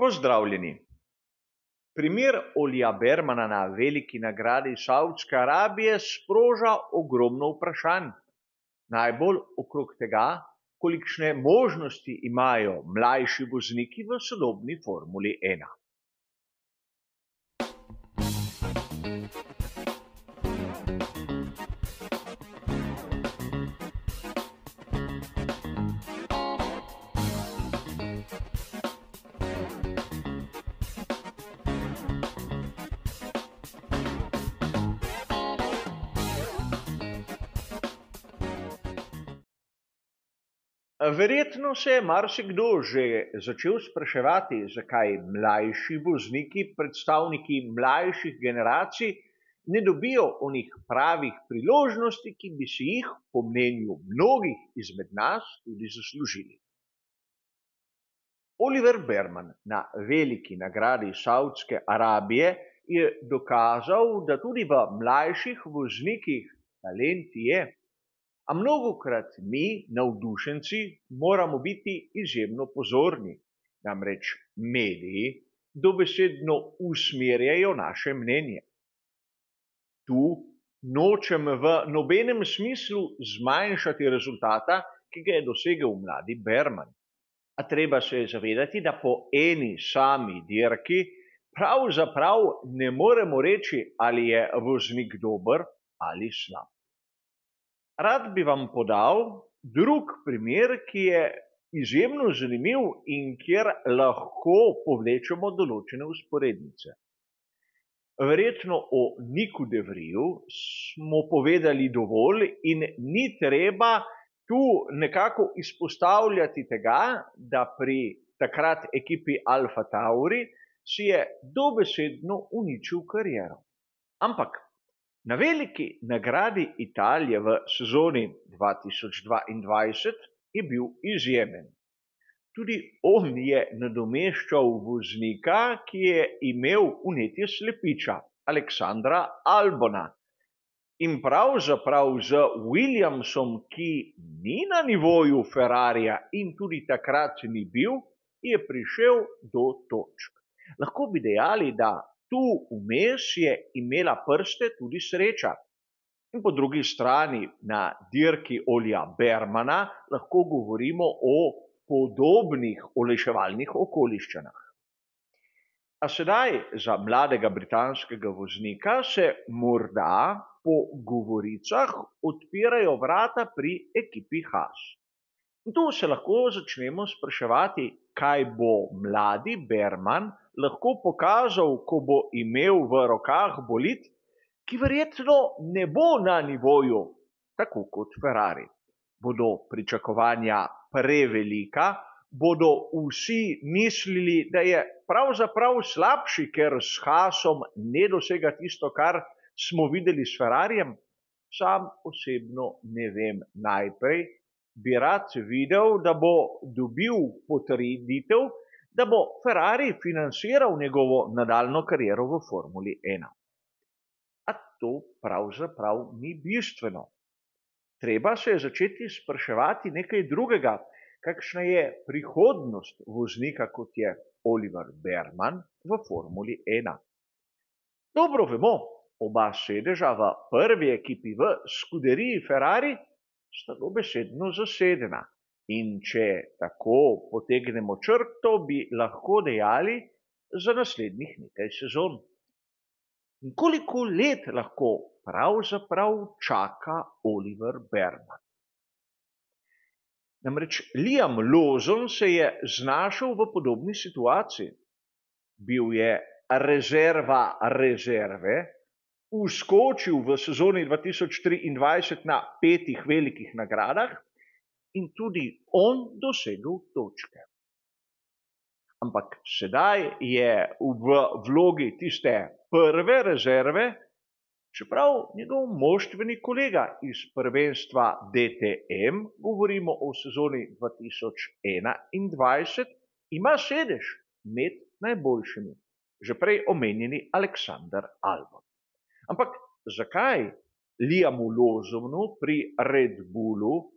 Pozdravljeni. Primer Olija Bermana na veliki nagradi Savdske Arabije sproža ogromno vprašanj. Najbolj okrog tega, kolikšne možnosti imajo mlajši vozniki v sodobni Formuli 1. Verjetno se je marsikdo že začel spraševati, zakaj mlajši vozniki, predstavniki mlajših generacij, ne dobijo onih pravih priložnosti, ki bi si jih, po mnenju mnogih izmed nas, tudi zaslužili. Oliver Berman na veliki nagradi Savdske Arabije je dokazal, da tudi v mlajših voznikih talent je. A mnogokrat mi, navdušenci, moramo biti izjemno pozorni, namreč mediji dobesedno usmerjajo naše mnenje. Tu nočem v nobenem smislu zmanjšati rezultata, ki ga je dosegel mladi Berman. A treba se je zavedati, da po eni sami dirki pravzaprav ne moremo reči, ali je voznik dober ali slab. Rad bi vam podal drug primer, ki je izjemno zanimiv in kjer lahko povlečemo določene vzporednice. Verjetno o Niku de Vriju smo povedali dovolj in ni treba tu nekako izpostavljati tega, da pri takrat ekipi Alfa Tauri si je dobesedno uničil kariero. Ampak na veliki nagradi Italije v sezoni 2022 je bil izjemen. Tudi on je nadomeščal voznika, ki je imel vnetje slepiča, Aleksandra Albona. In pravzaprav z Williamsom, ki ni na nivoju Ferrarija in tudi takrat ni bil, je prišel do točk. Lahko bi dejali, da tu vmes je imela prste tudi sreča. In po drugi strani na dirki Olija Bermana lahko govorimo o podobnih olajševalnih okoliščinah. A sedaj za mladega britanskega voznika se morda po govoricah odpirajo vrata pri ekipi Haas. In tu se lahko začnemo spraševati, kaj bo mladi Berman lahko pokazal, ko bo imel v rokah bolid, ki verjetno ne bo na nivoju, tako kot Ferrari. Bodo pričakovanja prevelika, bodo vsi mislili, da je pravzaprav slabši, ker s Haasom ne dosega tisto, kar smo videli s Ferrarijem. Sam osebno ne vem. Najprej bi rad videl, da bo dobil potrditev, da bo Ferrari financiral njegovo nadaljnjo kariero v Formuli 1. A to pravzaprav ni bistveno. Treba se je začeti spraševati nekaj drugega, kakšna je prihodnost voznika, kot je Oliver Berman v Formuli 1. Dobro vemo, oba sedeža v prvi ekipi v skuderiji Ferrari sta dobesedno zasedena. In če tako potegnemo črto, bi lahko dejali za naslednjih nekaj sezon. In koliko let lahko pravzaprav čaka Oliver Berman? Namreč Liam Lawson se je znašel v podobni situaciji. Bil je rezerva rezerve, vskočil v sezoni 2023 na 5 velikih nagradah in tudi on dosegel točke. Ampak sedaj je v vlogi tiste prve rezerve, čeprav njegov moštveni kolega iz prvenstva DTM, govorimo o sezoni 2021, ima sedež med najboljšimi, že prej omenjeni Alexander Albon. Ampak zakaj Liamu Lawsonu pri Red Bullu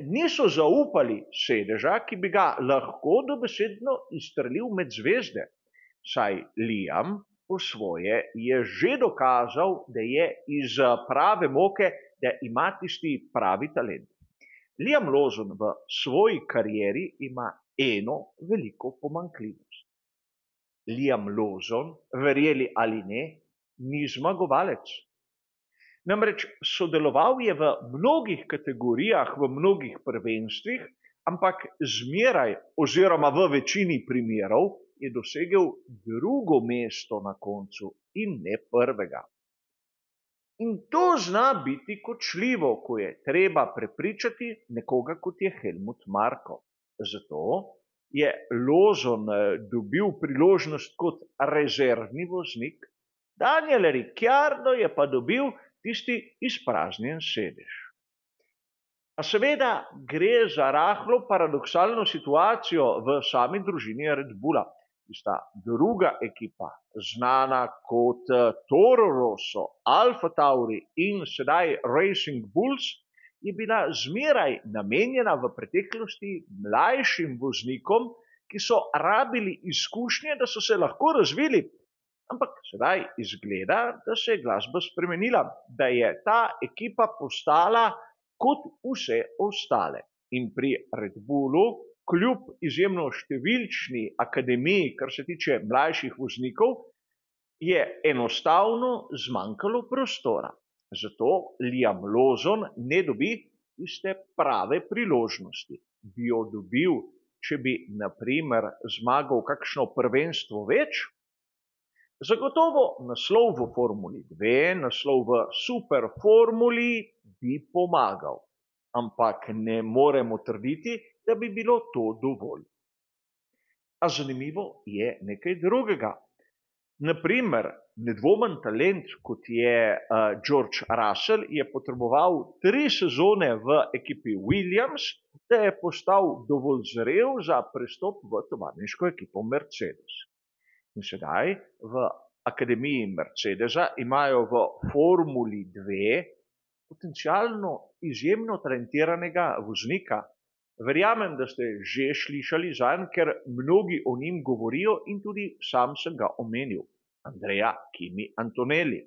niso zaupali sedeža, ki bi ga lahko dobesedno izstrelil med zvezde, saj Liam po svoje je že dokazal, da je iz prave moke, da ima tisti pravi talent. Liam Lawson v svoji karieri ima eno veliko pomanjkljivost. Liam Lawson, verjeli ali ne, ni zmagovalec. Namreč sodeloval je v mnogih kategorijah, v mnogih prvenstvih, ampak zmeraj oziroma v večini primerov je dosegel drugo mesto na koncu in ne prvega. In to zna biti kočljivo, ko je treba prepričati nekoga, kot je Helmut Marko. Zato je Lawson dobil priložnost kot rezervni voznik, Daniel Ricciardo je pa dobil tisti izpraznjen sedež. A seveda gre za rahlo paradoksalno situacijo v sami družini Red Bulla. Tista druga ekipa, znana kot Toro Rosso, Alfa Tauri in sedaj Racing Bulls, je bila zmeraj namenjena v preteklosti mlajšim voznikom, ki so rabili izkušnje, da so se lahko razvili. Ampak sedaj izgleda, da se je glasba spremenila, da je ta ekipa postala kot vse ostale. In pri Red Bullu, kljub izjemno številčni akademiji, kar se tiče mlajših voznikov, je enostavno zmanjkalo prostora. Zato Liam Lawson ne dobi tiste prave priložnosti. Bi jo dobil, če bi, na primer, zmagal kakšno prvenstvo več? Zagotovo naslov v Formuli 2, naslov v superformuli bi pomagal, ampak ne moremo trditi, da bi bilo to dovolj. A zanimivo je nekaj drugega. Naprimer, nedvomen talent, kot je George Russell, je potreboval 3 sezone v ekipi Williams, da je postal dovolj zrel za prestop v tovarniško ekipo Mercedes. In sedaj v akademiji Mercedesa imajo v Formuli 2 potencialno izjemno talentiranega voznika. Verjamem, da ste že slišali zanj, ker mnogi o njim govorijo in tudi sam sem ga omenil. Andrea Kimi Antonelli.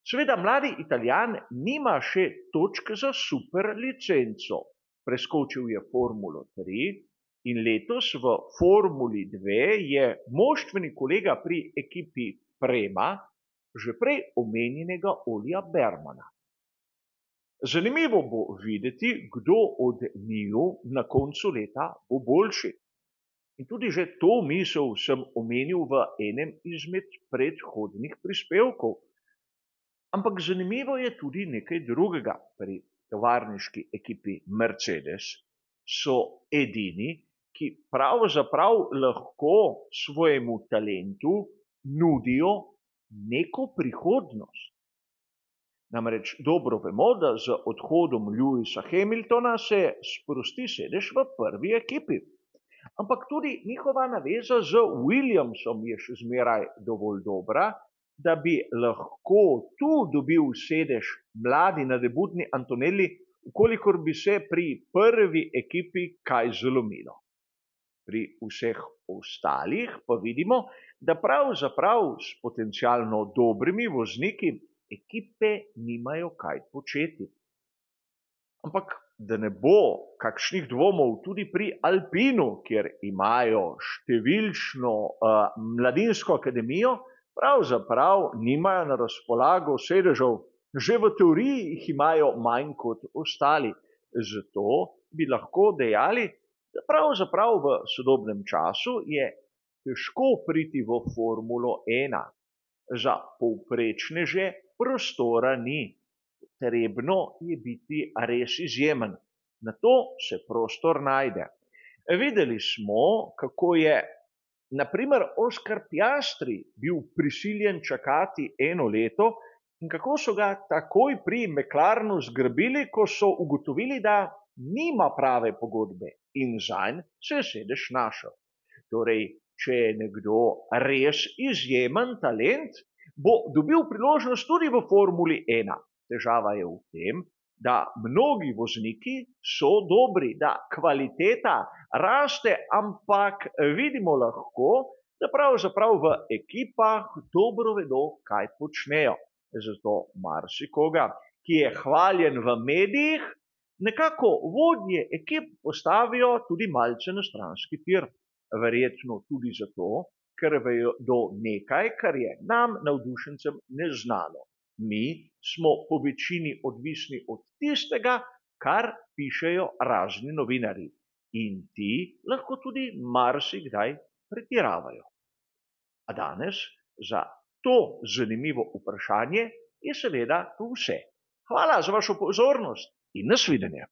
Seveda mladi Italijan nima še točk za super licenco. Preskočil je Formulo 3 in letos v Formuli 2 je moštveni kolega pri ekipi Prema že prej omenjenega Olija Bermana. Zanimivo bo videti, kdo od njiju na koncu leta bo boljši. In tudi že to misel sem omenil v enem izmed predhodnih prispevkov. Ampak zanimivo je tudi nekaj drugega. Pri tovarniški ekipi Mercedes so edini, ki pravzaprav lahko svojemu talentu nudijo neko prihodnost. Namreč dobro vemo, da z odhodom Lewisa Hamiltona se sprosti sedež v prvi ekipi. Ampak tudi njihova naveza z Williamsom je še zmeraj dovolj dobra, da bi lahko tu dobil sedež mladi nadebudni Antonelli, ukolikor bi se pri prvi ekipi kaj zlomilo. Pri vseh ostalih pa vidimo, da pravzaprav s potencialno dobrimi vozniki ekipe nimajo kaj početi. Ampak da ne bo kakšnih dvomov tudi pri Alpinu, kjer imajo številčno mladinsko akademijo, pravzaprav nimajo na razpolago sedežev, že v teoriji jih imajo manj kot ostali. Zato bi lahko dejali, da pravzaprav v sodobnem času je težko priti v Formulo 1. Za povprečneže prostora ni. Potrebno je biti res izjemen. Na to se prostor najde. Videli smo, kako je na primer Oscar Piastri bil prisiljen čakati 1 leto in kako so ga takoj pri McLarenu zgrabili, ko so ugotovili, da nima prave pogodbe in zanj se je sedež našel. Torej, če je nekdo res izjemen talent, bo dobil priložnost tudi v Formuli 1. Težava je v tem, da mnogi vozniki so dobri, da kvaliteta raste, ampak vidimo lahko, da pravzaprav v ekipah dobro vedo, kaj počnejo. Zato marsikoga, ki je hvaljen v medijih, nekako vodje ekip postavijo tudi malce na stranski tir. Verjetno tudi zato, ker vedo nekaj, kar je nam, navdušencem, neznano. Mi smo po večini odvisni od tistega, kar pišejo razni novinarji. In ti lahko tudi marsikdaj pretiravajo. A danes za to zanimivo vprašanje je seveda to vse. Hvala za vašo pozornost in nasvidenje.